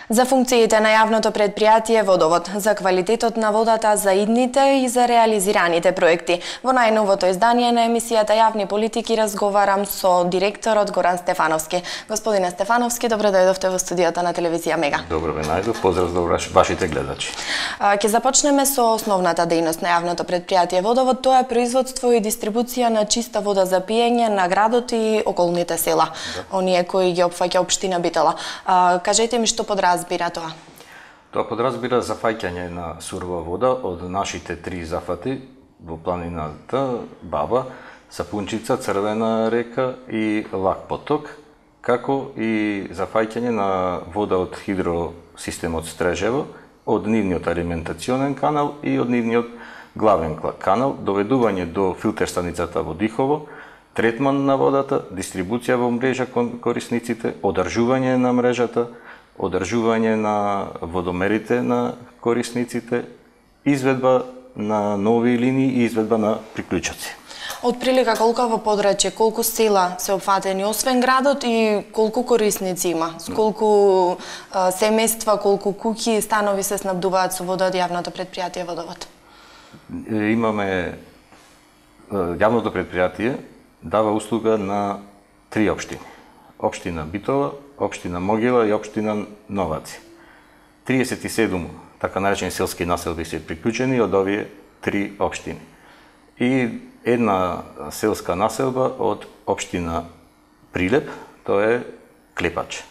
За функциите на јавното предпријатие Водовод, за квалитетот на водата за идните и за реализираните проекти. Во најновото издание на емисијата Јавни политики разговарам со директорот Горан Стефановски. Господине Стефановски, добро дојдовте во студиото на телевизија Мега. Добро ве најдов, поздрав до вашите гледачи. Ќе започнеме со основната дејност на јавното предпријатие Водовод, тоа е производство и дистрибуција на чиста вода за пиење на градот и околните села, оние кои ги опфаќа општина Битола. Кажете ми што подразбира тоа? Тоа подразбира зафаќање на сурова вода од нашите три зафати во планината Баба, Сапунчица, Црвена река и Лак поток, како и зафаќање на вода од хидросистемот Стрежево, од нивниот алиментационен канал и од нивниот главен канал, доведување до филтер станицата во Дихово, третман на водата, дистрибуција во мрежа кон корисниците, одржување на мрежата, одржување на водомерите на корисниците, изведба на нови линии и изведба на приклучоци. Од прилика колку во подрачје, колку села се опфатени освен градот и колку корисници има? Колку семејства, колку куќи и станови се снабдуваат со вода од јавното предпријатие Водовод? Имаме јавното предпријатие дава услуга на три општини. Општина Битола, општина Могила и општина Новаци. 37 така наречени селски населби се приклучени од овие три општини. И една селска населба од општина Прилеп, тоа е Клепач.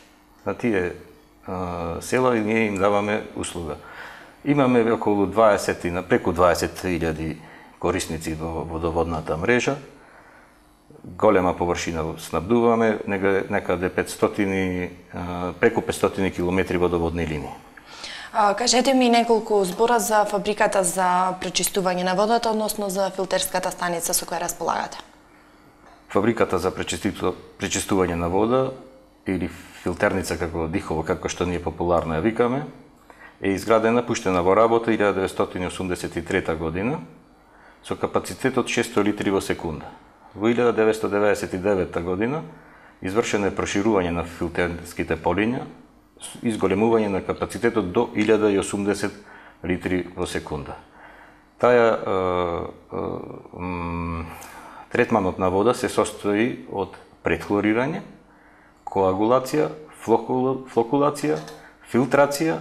На тие села и ние им даваме услуга. Имаме околу 20, преку 20.000 корисници во водоводната мрежа. Голема површина снабдуваме, некаде 500, преку 500 километри водоводни линии. Кажете ми неколку збора за фабриката за пречистување на водата, односно за филтерската станица со која располагате. Фабриката за пречистување на вода или филтерница како Дихово, како што ние популарно ја викаме, е изградена, пуштена во работа 1983 година со капацитет од 600 литри во секунда. Во 1999 година извршено е проширување на филтерските полиња, изголемување на капацитетот до 1080 литри во секунда. Третманот на вода се состои од претхлорирање, коагулација, флокулација, филтрација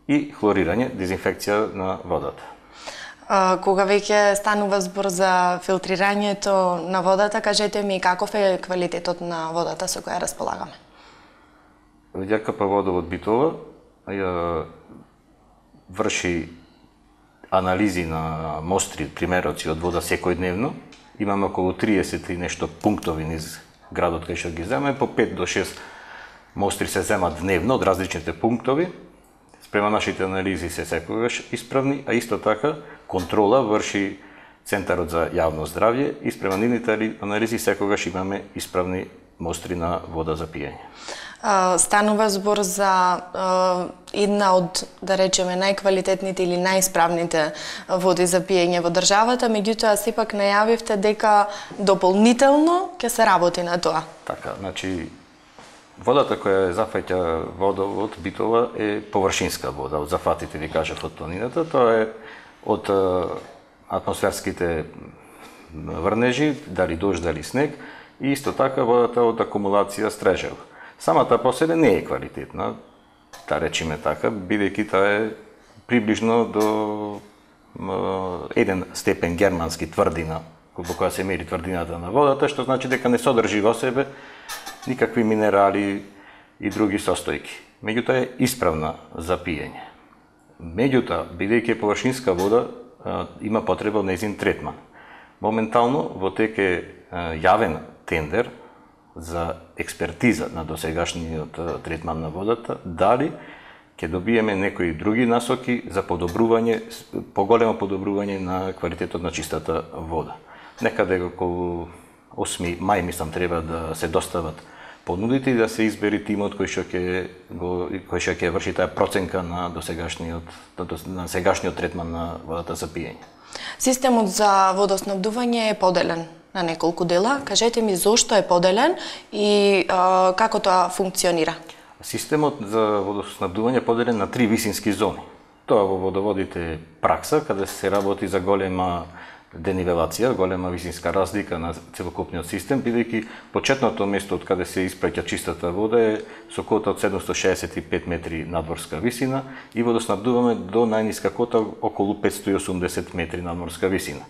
и хлорирање, дезинфекција на водата. Кога веќе станува збор за филтрирањето на водата, кажете ми каков е квалитетот на водата со која располагаме? ЈКП Водовод Битола врши анализи на мостри, примероци од вода секојдневно. Имаме околу 30 и нешто пунктови низ градот кај што ги земаме, по 5 до 6 мостри се земат дневно од различните пунктови. Спрема нашите анализи се секогаш исправни, а исто така контрола врши Центарот за јавно здравје и спрема нивните анализи секогаш имаме исправни мостри на вода за пиење. Станува збор за една од, да речеме, најквалитетните или најисправните води за пиење во државата, меѓутоа сепак најавивте дека дополнително ќе се работи на тоа. Така, значи водата која зафаќа Водовод Битола е површинска вода, од зафатите ви кажав од планината, тоа е од атмосферските врнежи, дали дожд, дали снег, и исто така водата од акумулација Стрежево. Самата по себе не е квалитетна, да речиме така, бидејќи таа е приближно до 1 степен германски тврдина, во која се мери тврдината на водата, што значи дека не содржи во себе никакви минерали и други состојки. Меѓутоа е исправна за пиење. Меѓутоа, бидејќи е површинска вода, има потреба од нејзин третман. Моментално во тек е јавен тендер за експертиза на досегашниот третман на водата, дали ќе добиеме некои други насоки за подобрување, поголемо подобрување на квалитетот на чистата вода. Некаде околу 8 мај, мислам, треба да се достават понудите и да се избери тимот кој што ќе врши таа проценка на сегашниот третман на водата за пиење. Системот за водоснабдување е поделен на неколку дела. Кажете ми зошто е поделен и како тоа функционира? Системот за водоснабдување е поделен на 3 висински зони. Тоа во водоводите е пракса, каде се работи за голема денивелација, голема висинска разлика на целокупниот систем, бидејќи почетното место од каде се испраќа чистата вода е со кота од 765 метри надморска висина и водоснабдуваме до најниска кота околу 580 метри надморска висина.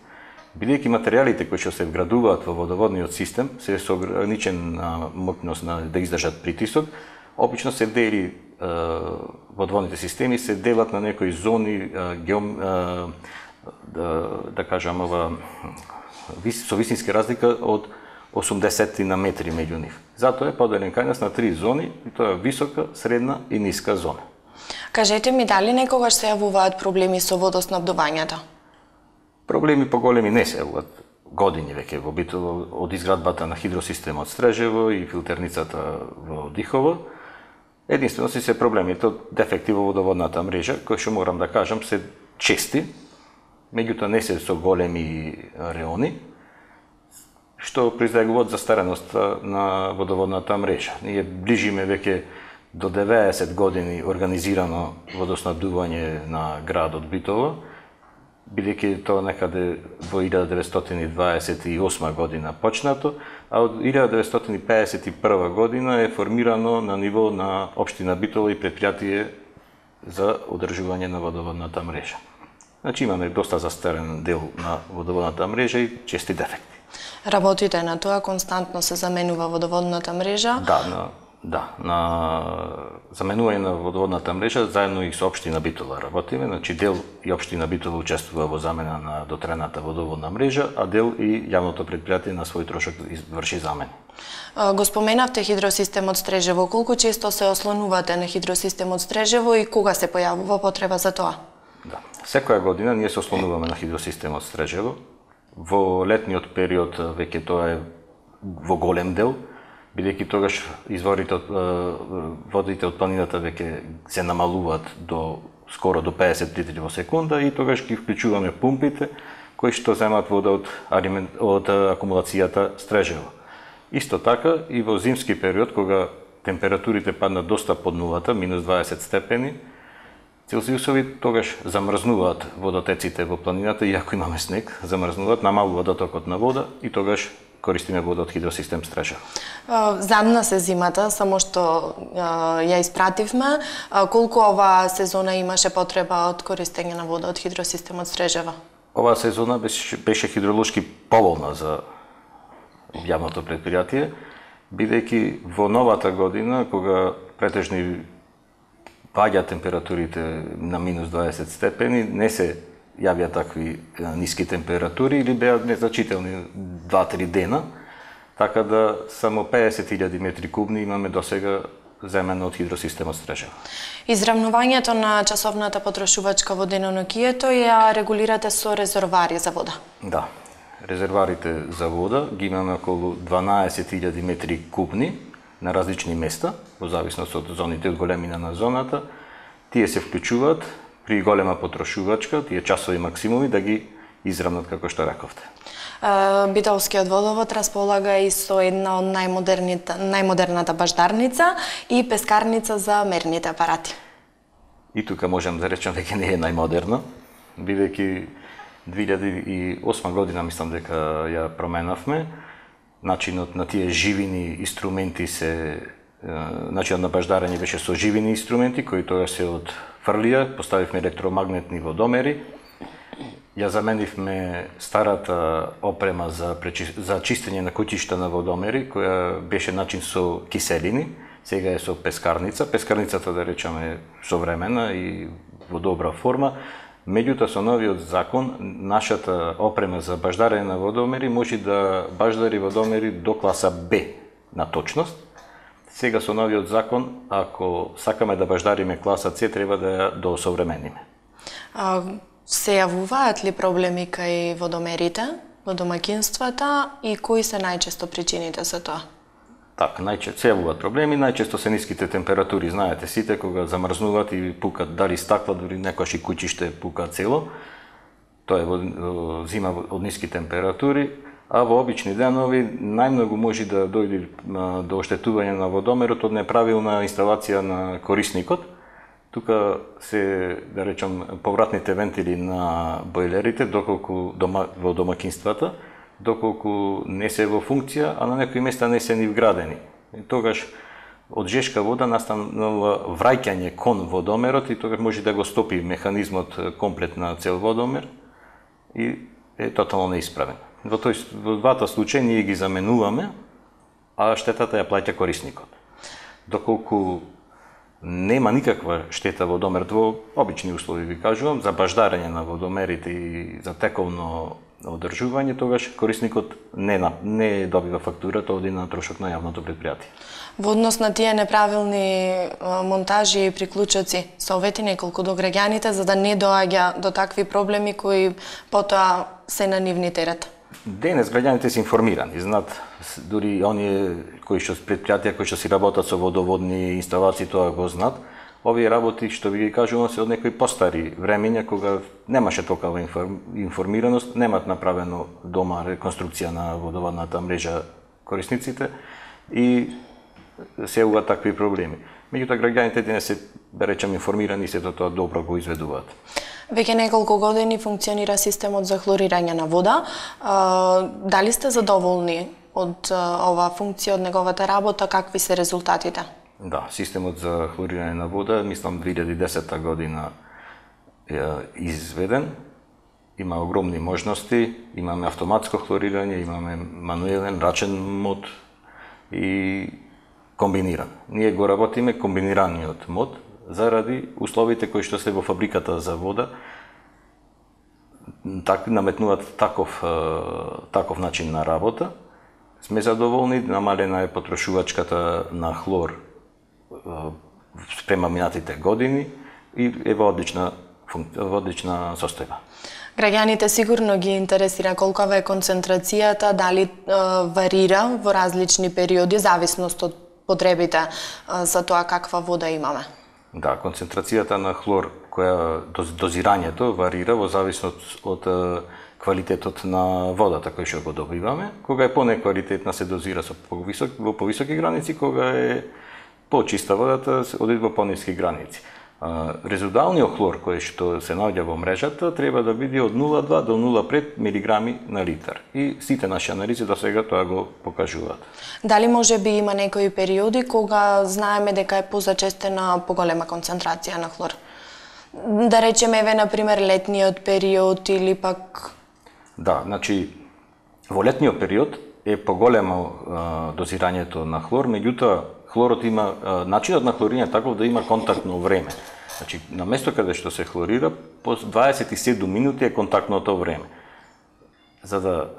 Бидејќи материјалите кои што се вградуваат во водоводниот систем се со ограничен моќност да издржат притисок, обично се дели водоводните системи се делат на некои зони да кажам со висински разлика од 80 на метри меѓу нив. Затоа е поделен кај нас на 3 зони, и тоа е висока, средна и ниска зона. Кажете ми, дали некогаш се јавуваат проблеми со водоснабдувањето? Проблеми поголеми не се јавуваат години веќе во Битола, од изградбата на хидросистемот Стрежево и филтерницата во Дихово. Единствено се проблемите од дефекти во водоводната мрежа, кои што морам да кажам се чести, меѓутоа не се со големи реони, што произлегуваат застареност на водоводната мрежа. Ние ближиме веќе до 90 години организирано водоснабдување на градот Битола, бидејќи тоа некаде во 1928 година почнато, а од 1951 година е формирано на ниво на општина Битола и предпријатие за одржување на водоводната мрежа. Значи имаме доста застарен дел на водоводната мрежа и чести дефекти. Работите на тоа, константно се заменува водоводната мрежа? Да, на заменување на водоводната мрежа заедно и со општина Битола работиме, значи дел и општина Битола учествува во замена на дотрената водоводна мрежа, а дел и јавното предпријатие на свој трошок врши замени. Го споменавте хидросистемот Стрежево, колку често се ослонувате на хидросистемот Стрежево и кога се појавува потреба за тоа? Да, секоја година ние се ослонуваме на хидросистемот Стрежево. Во летниот период веќе тоа е во голем дел, бидејќи тогаш изворите од водите од планината веќе се намалуваат до скоро до 50 литри во секунда и тогаш ги вклучуваме пумпите кои што земаат вода од акумулацијата Стрежево. Исто така и во зимски период кога температурите паднат доста под нулата, минус 20 степени Целзиусови, тогаш замрзнуваат водотеците во планината, иако имаме снег, замрзнуваат, намалува дотокот на вода и тогаш користиме вода од хидросистем Стрежево. Задна се зимата, само што ја испративме. Колку оваа сезона имаше потреба од користење на вода од хидросистемот Стрежево? Оваа сезона беше хидролошки поволна за јавното предпријатие, бидејќи во новата година, кога претежно паѓа температурите на минус 20 степени, не се јавија такви ниски температури или беа незначителни 2-3 дена, така да само 50.000 метри кубни имаме досега земено од хидросистемот Стрежево. Изравнувањето на часовната потрошувачка во денонокието ја регулирате со резервари за вода? Да, резерварите за вода ги имаме околу 12.000 метри кубни на различни места, во зависност од зоните, од големина на зоната. Тие се вклучуваат при голема потрошувачка, тие часови максимуми да ги изравнат како што рековте. Битолскиот водовод располага и со една од најмодерната баждарница и пескарница за мерните апарати. И тука можам да речам дека не е најмодерна, бидејќи 2008 година мислам дека ја променавме. Начинот на тие живини инструменти начинот на баждарење беше со живини инструменти кои тоа се отфрлија, поставивме електромагнетни водомери. Ја заменивме старата опрема за чистење на куќишта на водомери, која беше начин со киселини, сега е со пескарница. Пескарницата, да речеме, современа и во добра форма. Меѓутоа, со новиот закон, нашата опрема за баждарење на водомери може да баждари водомери до класа Б на точност. Сега со новиот закон, ако сакаме да баждариме класа С, треба да ја доосовремениме. Се јавуваат ли проблеми кај водомерите, во домаќинствата и кои се најчесто причините за тоа? Така, најчесто се јавуваат проблеми, најчесто се ниските температури, знаете сите, кога замрзнуваат и пукат дали стакла, дури некојаш и куќиште пука цело. Тоа е во зима од ниски температури, а во обични денови најмногу може да дојде до оштетување на водомерот од неправилна инсталација на корисникот. Тука се, да речам, повратните вентили на бойлерите, доколку во домакинствата, доколку не се во функција, а на некои места не се ни вградени. И тогаш од жешка вода настанува враќање кон водомерот и тогаш може да го стопи механизмот комплет на цел водомер и е тотално неисправен. Во двата случаи ние ги заменуваме, а штетата ја плаќа корисникот. Доколку нема никаква штета водомерот во обични услови, ви кажувам, за баждарење на водомерите и за тековно одржување, тогаш корисникот не добива фактурата, оди на трошок на јавното предпријатие. Во однос на тие неправилни монтажи и приклучоци, совети неколку до граѓаните за да не доаѓа до такви проблеми кои потоа се на нивни терет? Денес граѓаните се информирани, знаат, дури оние предпријатија кои што си работат со водоводни инсталации, тоа го знаат. Овие работи, што ви ги кажувам, се од некои постари времења, кога немаше толкова информираност, немат направено дома реконструкција на водоводната мрежа корисниците и се јавуваат такви проблеми. Меѓутоа, граѓаните денес се, да речем, информирани и се тоа добро го изведуваат. Веќе неколку години функционира системот за хлорирање на вода. Дали сте задоволни од оваа функција, од неговата работа, какви се резултатите? Да, системот за хлорирање на вода, мислам 2010 година е изведен. Има огромни можности, имаме автоматско хлорирање, имаме мануелен, рачен мод и комбиниран. Ние го работиме комбинираниот мод заради условите кои што се во фабриката за вода, наметнуваат таков начин на работа. Сме задоволни, намалена е потрошувачката на хлор спрема минатите години и е во одлична состојба. Граѓаните сигурно ги интересира колкава е концентрацијата, дали варира во различни периоди, зависност од потребите за тоа каква вода имаме. Да, концентрацијата на хлор, дозирањето варира во зависност од квалитетот на водата кој што го добиваме. Кога е понеквалитетна се дозира во повисоки граници, кога е почиста водата оди во пониски граници. Резидуалниот хлор кој што се наоѓа во мрежата треба да биде од 0,2 до 0,5 милиграми на литар. И сите наши анализи до сега тоа го покажуваат. Дали може би има некои периоди кога знаеме дека е позачестена поголема концентрација на хлор? Да речеме, еве, например, летниот период или пак... Да, значи, во летниот период е поголемо дозирањето на хлор, меѓутоа хлорот има, начинот на хлорирање таков да има контактно време. Значи, на место каде што се хлорира, по 27 минути е контактното време. За да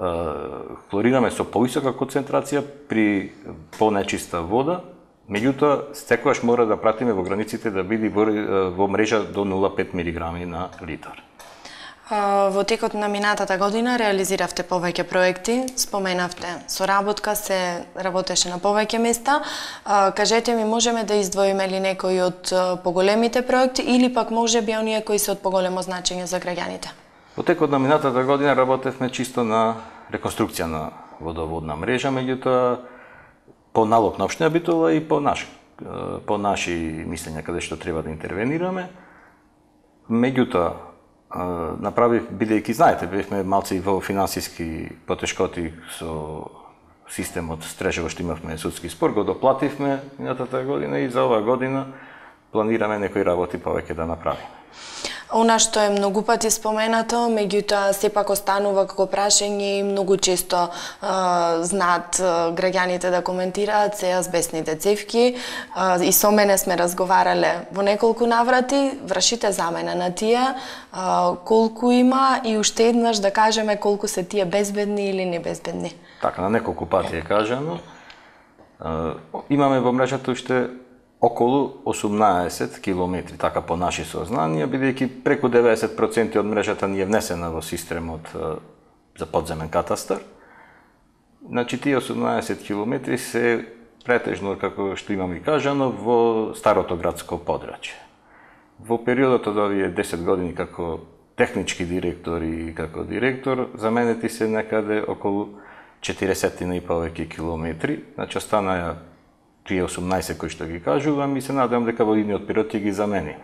хлорираме со повисока концентрација при понечиста вода, меѓутоа, секогаш мора да пратиме во границите да биде во мрежа до 0,5 милиграми на литар. Во текот на минатата година реализиравте повеќе проекти, споменавте соработка, се работеше на повеќе места. Кажете ми, можеме да издвоиме ли некои од поголемите проекти или пак може би оние кои се од поголемо значење за граѓаните? Во текот на минатата година работевме чисто на реконструкција на водоводна мрежа, меѓутоа по налог на општина Битола и по наши мислења каде што треба да интервенираме. Меѓутоа, бидејќи, знаете, бевме малци во финансиски потешкоти со системот Стрежево што имавме судски спор, го доплативме минатата година и за оваа година планираме некои работи повеќе да направиме. Она што е многу пати споменато, меѓутоа сепак останува како прашање и многу често знаат граѓаните да коментираат се азбестните цевки. И со мене сме разговарале во неколку наврати, вршите замена на тие, колку има и уште еднаш да кажеме колку се тие безбедни или небезбедни. Така, на неколку пати е кажано. Имаме во мрежата уште околу 18 километри, така по наши сознанија, бидејќи преку 90% од мрежата ни е внесена во системот за подземен катастар. Значи, тие 18 километри се претежно, како што имам и кажано, во старото градско подрачје. Во периодот од овие 10 години како технички директор и како директор, заменети се некаде околу 40 и повеќе километри, значи остана тие 18 кои што ги кажувам и се надевам дека во идниот период ќе ги замени.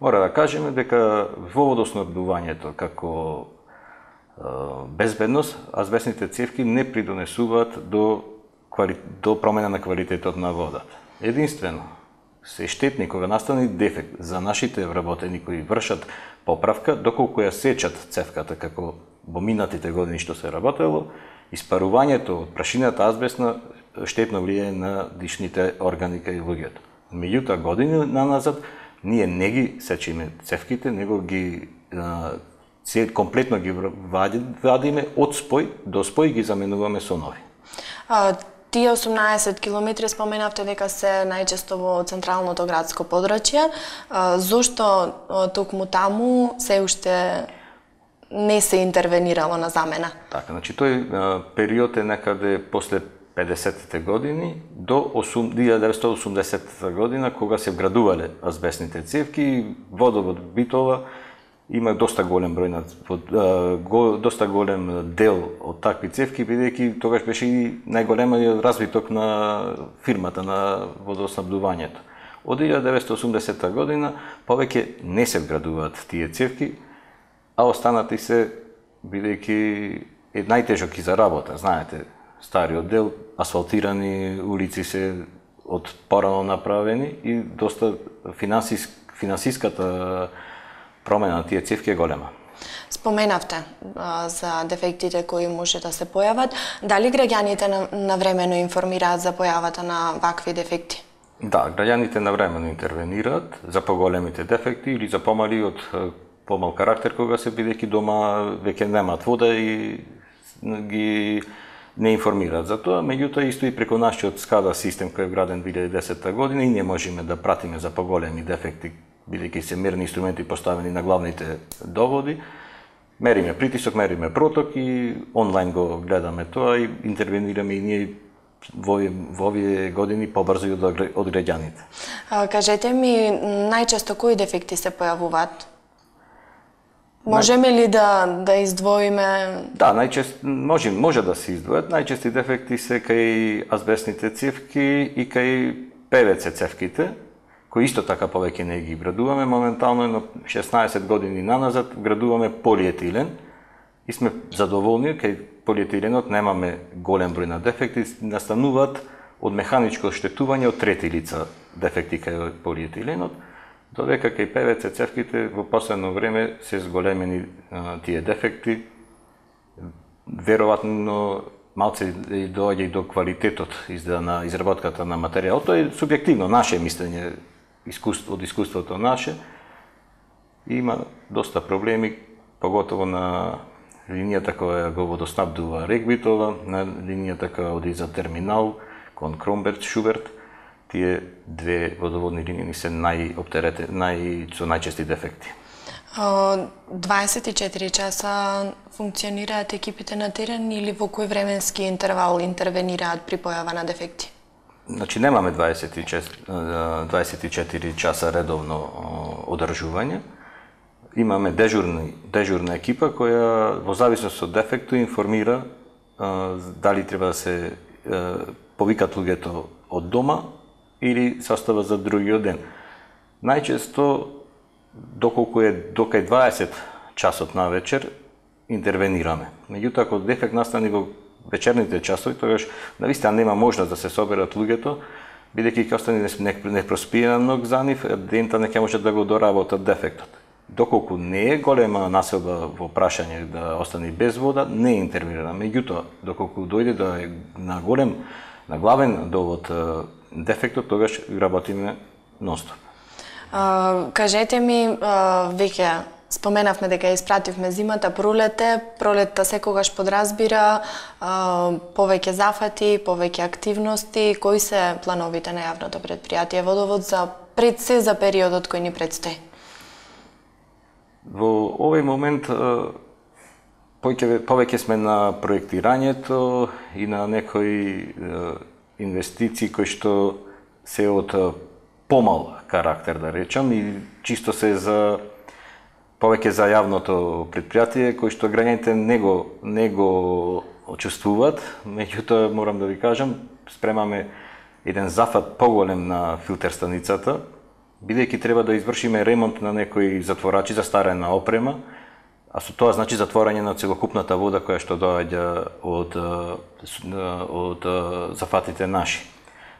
Мора да кажеме дека во водоснабдувањето како безбедност, азбестните цевки не придонесуваат до промена на квалитетот на водата. Единствено, се штетни кога настане дефект за нашите вработени кои вршат поправка, доколку ја сечат цевката како во минатите години што се работело, испарувањето од прашината азбестна штетно влијае на дишните органи кај луѓето. Меѓутоа, години наназад, ние не ги сечиме цевките, него ги комплетно ги вадиме од спој до спој ги заменуваме со нови. Тие 18 километри споменавте дека се најчесто во централното градско подрачје. Зошто токму таму се уште не се интервенирало на замена? Така, значи тој период е некаде после 50-те години до 1980 година, кога се вградувале азбестните цевки, водовод Битола има доста голем број доста голем дел од такви цевки, бидејќи тогаш беше и најголемиот развиток на фирмата на водоснабдувањето. Од 1980 година повеќе не се вградуваат тие цевки, а останати се бидејќи е најтежок и за работа, знаете, стариот дел, асфалтирани улици се од порано направени и доста финансиската промена на тие цевки е голема. Споменавте за дефектите кои може да се појават. Дали граѓаните навремено информираат за појавата на вакви дефекти? Да, граѓаните навремено интервенираат за поголемите дефекти или за помал карактер кога се бидејќи дома веќе немаат вода и ги не информираат за тоа, меѓутоа исто и преку нашиот SCADA систем кој е вграден 2010 година и ние можеме да пратиме за поголеми дефекти, бидејќи се мерни инструменти поставени на главните доводи. Мериме притисок, мериме проток и онлайн го гледаме тоа и интервенираме и ние во овие години побрзо од граѓаните. Кажете ми, најчесто кои дефекти се појавуваат? Можеме ли да издвоиме? Да, може да се издвојат. Најчести дефекти се кај азбестните цевки и кај ПВЦ цевките, кои исто така повеќе не ги вградуваме. Моментално, на 16 години наназад, вградуваме полиетилен и сме задоволни, кај полиетиленот немаме голем број на дефекти, настануваат од механичко оштетување од трети лица дефекти кај полиетиленот, додека кај ПВЦ цевките во последно време се зголемени тие дефекти. Веројатно малце доаѓа и до квалитетот на изработката на материјал. Тоа е субјективно наше мислење, од искуството наше. Има доста проблеми, поготово на линијата која го водоснабдува РЕК Битола, на линијата која оди за терминал кон Кромберг, Шуберт. Тие две водоводни линии се со најчести дефекти. 24 часа функционираат екипите на терен или во кој временски интервал интервенираат при појава на дефекти? Значи немаме 24 часа редовно одржување. Имаме дежурна екипа која во зависност од дефектот информира дали треба да се повикат луѓето од дома или се остава за другиот ден. Најчесто, доколку е докај 20 часот на вечер, интервенираме. Меѓутоа, ако дефект настане во вечерните часови, тогаш навистина нема можност да се соберат луѓето, бидејќи ќе остане непроспиена ног за нив, дента не ќе може да го доработат дефектот. Доколку не е голема населба во прашање да остане без вода, не интервенира. Меѓутоа, доколку дојде да е на главен довод дефектот, тогаш работиме нонстоп. Кажете ми, веќе споменавме дека испративме зимата, пролетта секогаш подразбира повеќе зафати, повеќе активности. Кои се плановите на јавното претпријатие Водовод за периодот кој ни предстои? Во овој момент повеќе сме на проектирањето и на некои инвестиции кои што се од помал карактер, да речам, и чисто се за повеќе за јавното претпријатие, кој што граѓаните не го очувствуваат, меѓутоа морам да ви кажам, спремаме еден зафат поголем на филтер станицата, бидејќи треба да извршиме ремонт на некои затворачи за старена опрема, а со тоа значи затворање на целокупната вода која што доаѓа од зафатите наши.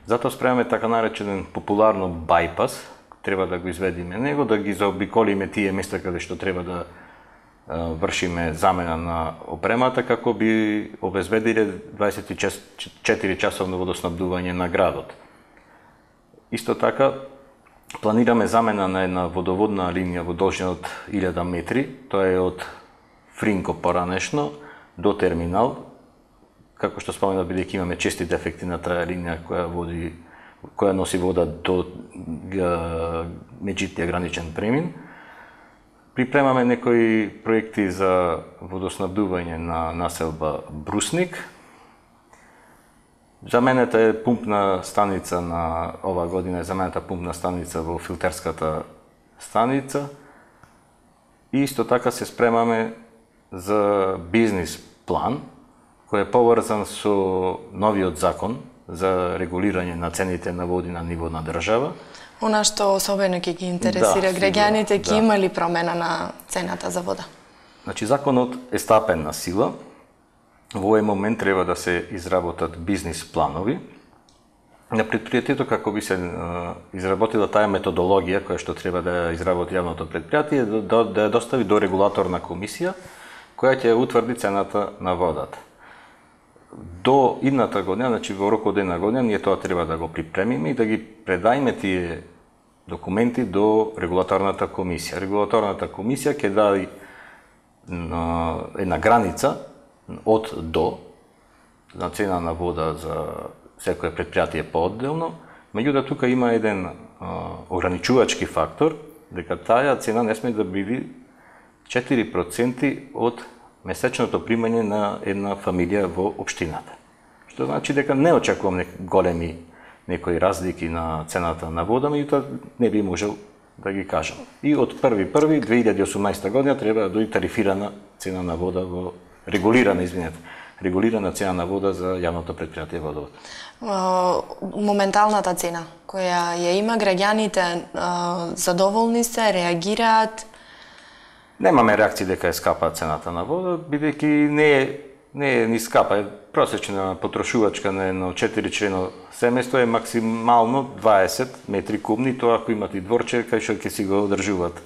Затоа спремаме така наречен популарно байпас, треба да го изведиме него, да ги заобиколиме тие места каде што треба да вршиме замена на опремата, како би обезбедиле 24 часовно водоснабдување на градот. Исто така, планираме замена на една водоводна линија во должина од 1000 метри, тоа е од Фринко поранешно до терминал, како што споменав, бидејќи имаме чести дефекти на таа линија која носи вода до меѓутија граничен премин. Припремаме некои проекти за водоснабдување на населба Брусник. Заменета е пумпна станица на ова година, заменета пумпна станица во филтерската станица. И исто така се спремаме за бизнис план, кој е поврзан со новиот закон за регулирање на цените на води на ниво на држава. Она што особено ќе ги интересира граѓаните, ќе има ли промена на цената за вода? Значи, законот е стапен на сила. Во овој момент треба да се изработат бизнис планови на предпријатието, како би се изработила таа методологија која што треба да изработи јавното предпријатие, да ја достави до регулаторна комисија, која ќе утврди цената на водата. До идната година, значи во рок од една година, ние тоа треба да го припремиме и да ги предајме тие документи до регулаторната комисија. Регулаторната комисија ќе даде една граница од до на цена на вода за секое предпријатие поодделно, меѓутоа тука има еден ограничувачки фактор, дека таа цена не сме да биде 4% од месечното примање на една фамилија во општината. Што значи дека не очекувам големи некои разлики на цената на вода, меѓутоа не би можел да ги кажам. И од 1.1.2018 година треба да дојде тарифирана цена на вода во регулирана цена на вода за јавното предпријатие Водовод. Моменталната цена која ја има, граѓаните задоволни се, реагираат? Немаме реакции дека е скапа цената на вода, бидејќи не е ни скапа. Просечна потрошувачка на едно 4-члено семејство е максимално 20 метри кубни, тоа ако имате и дворче, кај што ќе си го одржуваат.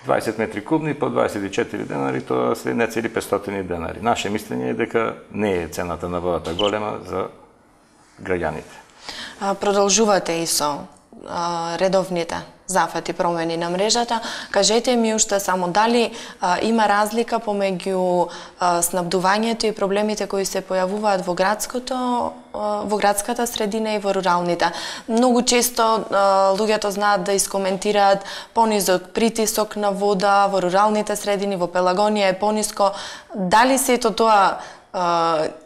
20 метри кубни по 24 денари, тоа се нецели 500 денари. Наше мислење е дека не е цената на водата голема за граѓаните. Продолжувате и со редовните зафати промени на мрежата. Кажете ми уште само дали има разлика помеѓу снабдувањето и проблемите кои се појавуваат во градската средина и во руралните. Многу често луѓето знаат да искоментираат понизок притисок на вода во руралните средини, во Пелагонија е пониско. Дали сето тоа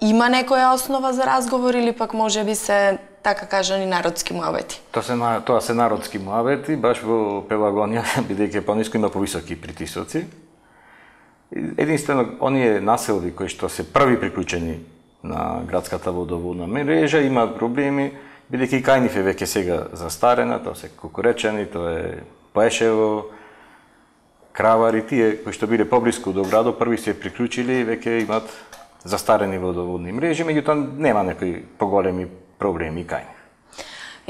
има некоја основа за разговор или пак можеби се така кажани народски муавети? Тоа се народски муавети, баш во Пелагонија, бидејќи е пониско, има повисоки притисоци. Единствено, оние населби кои што се први приклучени на градската водоводна мрежа имаат проблеми, бидејќи кај нив е веќе сега застарена, тоа се Кукуречани, тоа е Поешево, Кравари, тие кои што биле поблиску до градот, први се приклучили и веќе имаат застарени водоводни мрежи, меѓутоа нема некои поголеми проблеми кај нив.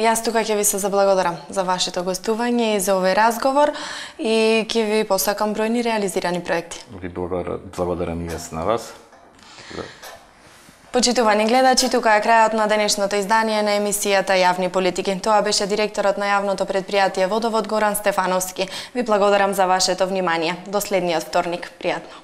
Јас тука ќе ви се заблагодарам за вашето гостување и за овој разговор и ќе ви посакам бројни реализирани проекти. Ви благодарам и јас на вас. Почитувани гледачи, тука е крајот на денешното издание на емисијата Јавни политики. Тоа беше директорот на јавното предпријатие Водовод Горан Стефановски. Ви благодарам за вашето внимание. До следниот вторник. Пријатно.